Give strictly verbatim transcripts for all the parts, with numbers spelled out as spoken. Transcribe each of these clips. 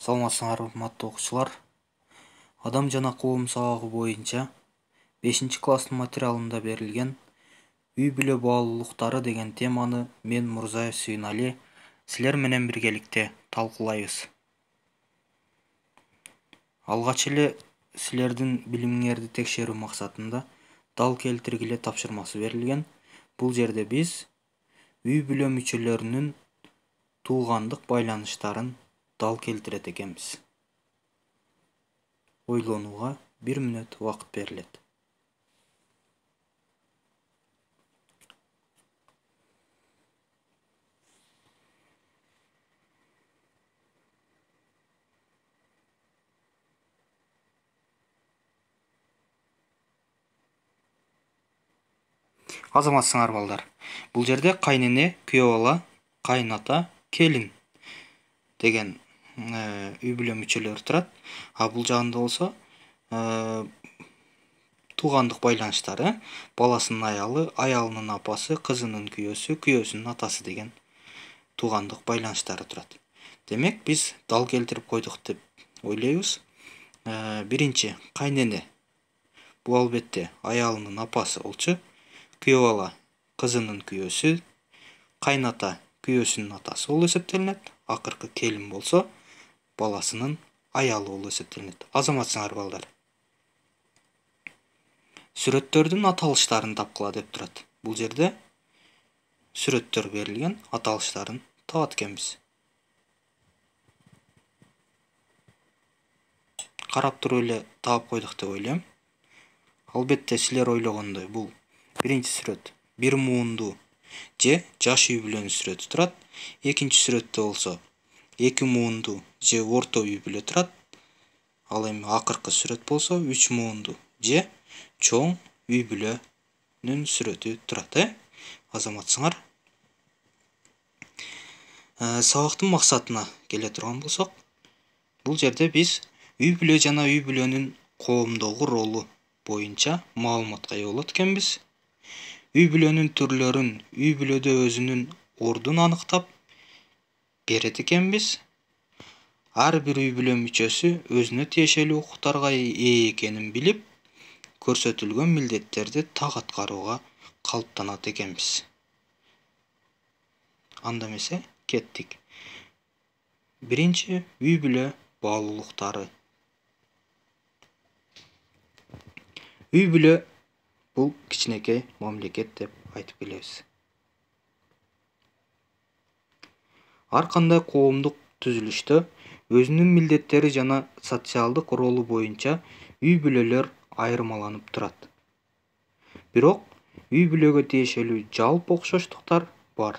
Саламатсыңарбы, урматтуу окуучулар. Адам жана коом сабагы боюнча бешинчи класстын материалында берилген үй бүлө баалуулуктары деген теманы мен Мурзаев Сүйүнали силер менен биргеликте талкуулайбыз. Алгач эле силердин билимиңерди текшерүү максатында дал келтиргиле тапшырмасы берилген. Бул жерде биз үй бүлө мүчөлөрүнүн туугандык байланыштарын дал келтирет экенбиз. Ойлонууга бир мүнөт убакыт берилет. Азаматсыңар балдар. Бул жерде кайнене, күйөө бала, кайната, келин деген үй бүлө мүчөлөрү турат. А бул жагында болсо туугандык байланыштары, баласынын аялы, аялынын апасы, кызынын күйөөсү, күйөөсүнүн атасы деген туугандык байланыштары турат. Демек, биз дал келтирип койдук деп ойлойбуз. Биринчи кайнене. Бул албетте аялынын апасы болчу. Күйөө бала кызынын күйөөсү, кайната күйөөсүнүн атасы болуп эсептелинет. Акыркы келин болсо баласынын аялы болуп эсептелинет. Азаматсыңар балдар. Сүрөттөрдүн аталыштарын тапкыла деп турат. Бул жерде сүрөттөр берилген, аталыштарын табат экенбиз. Карап туруп эле таап койдук деп ойлойм. Албетте силер ойлогондой бул биринчи сүрөт бир муунду же жаш үй бүлөнүн сүрөтү турат. Экинчи сүрөттө болсо эки муунду же орто үй бүлө турат. Ал эми акыркы сүрөт болсо үч муунду же чоң үй бүлөнүн сүрөтү турат, э? Азаматсыңар. Сабактын максатына келе турган болсок, бул жерде биз үй бүлө жана үй бүлөнүн коомдогу ролу боюнча маалыматка ээ болот экенбиз. Үй бүлөнүн түрлөрүн, үй бүлөдө өзүнүн ордун аныктап берет экенбиз. Ар бир үй бүлө мүчөсү өзүнө тиешелүү укуктарга ээ экенин билип, көрсөтүлгөн милдеттерди так аткарууга калыптанат экенбиз. Анда эмесе кеттик. Биринчи үй бүлө баалуулуктары. Үй бүлө бул кичинекей мамлекет деп айтып келебиз. Ар кандай коомдук түзүлүштө өзүнүн милдеттери жана социалдык ролу боюнча үй бүлөлөр айырмаланып турат. Бирок үй бүлөгө тиешелүү жалпы окшоштуктар бар.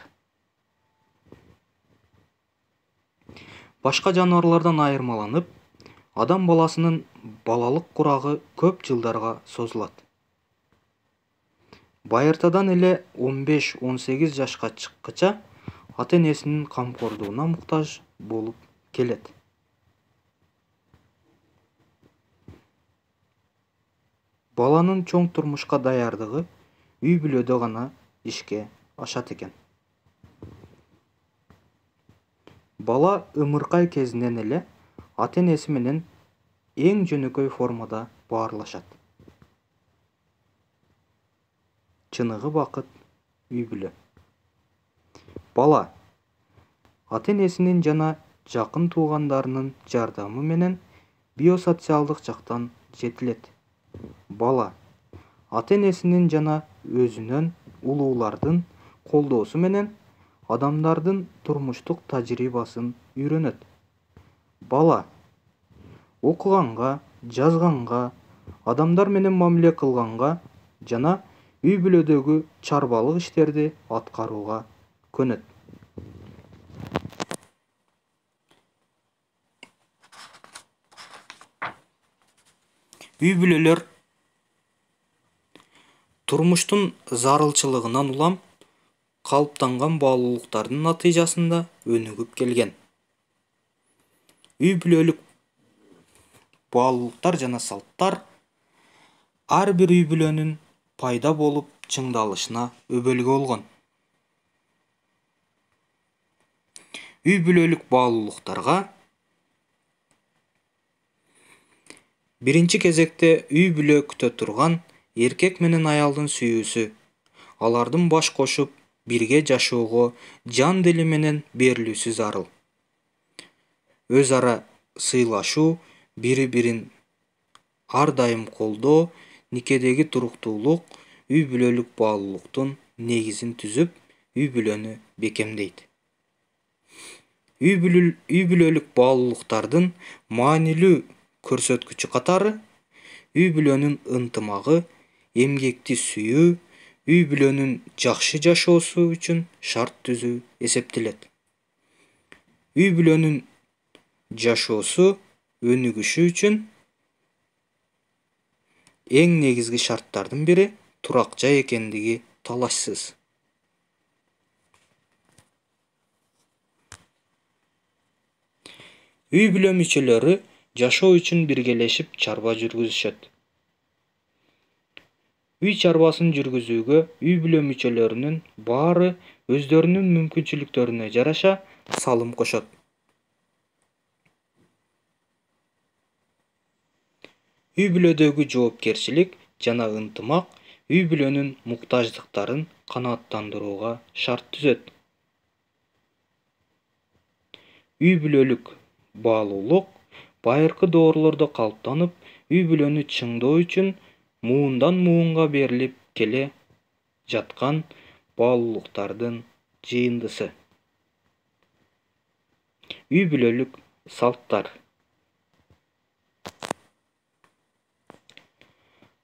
Башка жаныбарлардан айырмаланып, адам баласынын балалык курагы көп жылдарга созулат. Байыртадан эле он беш он сегиз жашка чыккыча ата-энесинин камкордугуна муктаж болуп келет. Баланын чоң турмушка даярдыгы үй бүлөдө гана ишке ашат экен. Бала ымыркай кезинен эле ата-энеси менен эң жөнөкөй формада баарлашат. Чыныгы бакыт үй бүлө. Бала ата-энесинин жана жакын туугандарынын жардамы менен биосоциалдык жактан жетилет. Бала ата-энесинин жана өзүнөн улуулардын колдоосу менен адамдардын турмуштук тажрыйбасын үйрөнөт. Бала окуганга, жазганга, адамдар менен мамиле кылганга жана үй бүлөдөгү чарбалык иштерди аткарууга көнөт. Үй бүлөлөр турмуштун зарылчылыгынан улам калыптанган баалуулуктардын натыйжасында өнүгүп келген. Үй бүлөлүк баалуулуктар жана салттар ар бир үй бүлөнүн пайда болуп чыңдалышына өбөлгө болгон. Үй бүлөлүк баалуулуктарга Биринчи кезекте үй бүлө күтө турган эркек менен аялдын сүйүүсү, алардын баш кошуп бирге жашоого жан дили менен берилүүсү зарыл. Өз ара сыйлашуу, бири бирин ар дайым колдоо, никедеги туруктуулук үй бүлөлүк баалуулуктун негизин түзүп, үй бүлөнү бекемдейт. Үй бүлөлүк баалуулуктардын маанилүү көрсөткүчү катары үй бүлөнүн ынтымагы, эмгекти сүйүү, үй бүлөнүн жакшы жашоосу үчүн шарт түзүү эсептелет. Үй бүлөнүн жашоосу өнүгүшү үчүн эң негизги шарттардын бири турак жай экендиги талашсыз. Үй бүлө мүчөлөрү жашоо үчүн биргелешип чарба жүргүзүшөт. Үй чарбасын жүргүзүүгө үй бүлө мүчөлөрүнүн баары өздөрүнүн мүмкүнчүлүктөрүнө жараша салым кошот. Үй бүлөдөгү жоопкерчилик жана ынтымак үй бүлөнүн муктаждыктарын канааттандырууга шарт түзөт. Үй бүлөлүк баалуулук байыркы доорлордо калыптанып, үй бүлөнү чыңдоо үчүн муундан муунга берилип келе жаткан баалуулуктардын жыйындысы. Үй бүлөлүк салттар.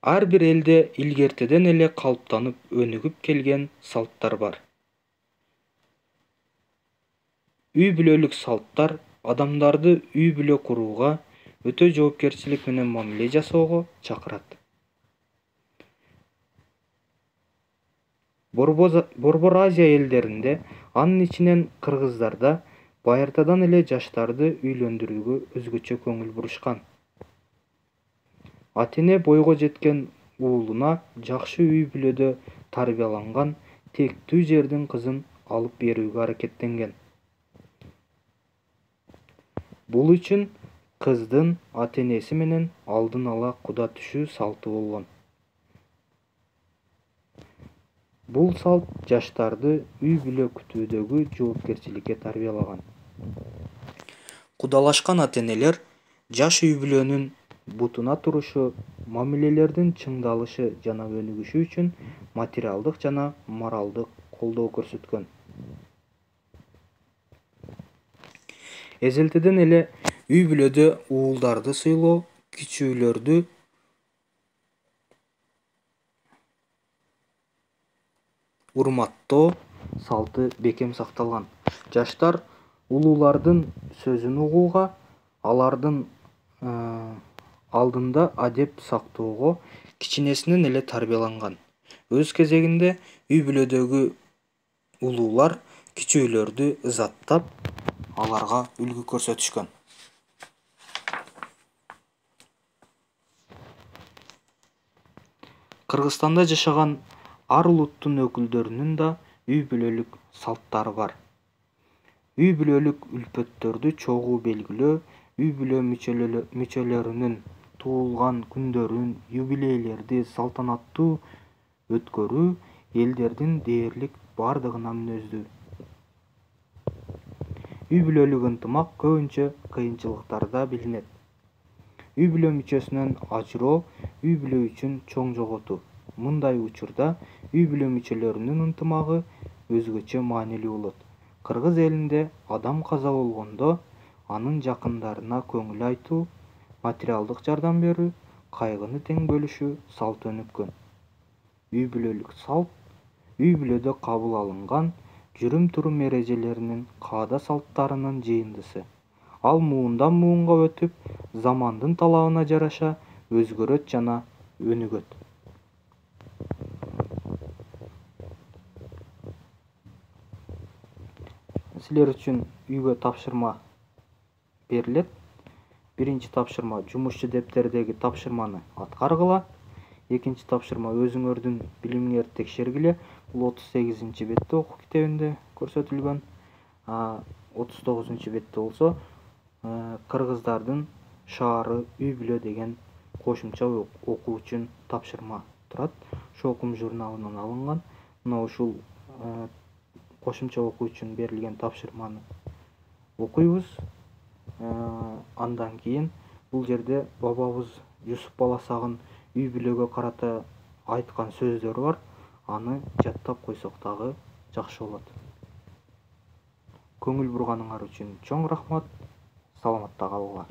Ар бир элде илгертеден эле калыптанып өнүгүп келген салттар бар. Үй бүлөлүк салттар адамдарды үй бүлө курууга өтө жоопкерчилик менен мамиле жасоого чакырат. Борбор Азия элдеринде, анын ичинен кыргыздарда байыртадан эле жаштарды үйлөндүрүүгө өзгөчө көңүл бурушкан. Ата-эне бойго жеткен уулуна жакшы үй бүлөдө тарбияланган тектүү жердин кызын алып берүүгө аракеттенген. Бул үчүн кыздын ата-энеси менен алдын ала куда түшүү салты болгон. Бул салт жаштарды үй бүлө күтүүдөгү жоопкерчиликке тарбиялаган. Кудалашкан ата-энелер жаш үй бүлөнүн бутуна турушу, мамилелердин чыңдалышы жана өнүгүшү үчүн материалдык жана моралдык колдоо көрсөткөн. Эзелтеден эле үй бүлөдө уулдарды сыйлоо, кичүүлөрдү урматтоо салты бекем сакталган. Жаштар улуулардын сөзүн угууга, алардын алдында адеп сактоого кичинесинен эле тарбияланган. Өз кезегинде үй бүлөдөгү улуулар кичүүлөрдү ызаттап, аларга үлгү көрсөтүшкөн. Кыргызстанда жашаган ар улуттун өкүлдөрүнүн да үй бүлөлүк салттары бар. Үй бүлөлүк үлпөттөрдү чогуу белгилөө, үй бүлө мүчөлөрүнүн туулган күндөрүн, юбилейлерди салтанаттуу өткөрүү элдердин дээрлик бардыгына мүнөздүү. Үй бүлөлүк ынтымак көбүнчө кыйынчылыктарда билинет. Үй бүлө мүчөсүнөн ажыроо үй бүлө үчүн чоң жоготуу. Мындай учурда үй бүлө мүчөлөрүнүн ынтымагы өзгөчө маанилүү болот. Кыргыз элинде адам каза болгондо анын жакындарына көңүл айтуу, материалдык жардам берүү, кайгыны тең бөлүшүү салты өнүккөн. Үй бүлөлүк салт үй бүлөдө кабыл алынган жүрүм-турум эрежелеринин, каада салттарынын жыйындысы. Ал муундан муунга өтүп, замандын талабына жараша өзгөрөт жана өнүгөт. Силер үчүн үйгө тапшырма берилет. Биринчи тапшырма жумушчу дептердеги тапшырманы аткаргыла. Экинчи тапшырма өзүңөрдүн билимиңерди текшергиле. Бул отуз сегизинчи бетте окуу китебинде көрсөтүлгөн. отуз тогузунчу бетте болсо кыргыздардын шаары үй бүлө деген кошумча окуу үчүн тапшырма турат. Ошол окуум журналынан алынган. Мына ушул кошумча окуу үчүн берилген тапшырманы окуйбуз. Андан кийин бул жерде бабабыз Жусуп Баласагын үй бүлөгө карата айткан сөздөрү бар. Аны жаттап койсок дагы жакшы болот. Көңүл бурганыңар үчүн чоң рахмат. Саламатта калгыла.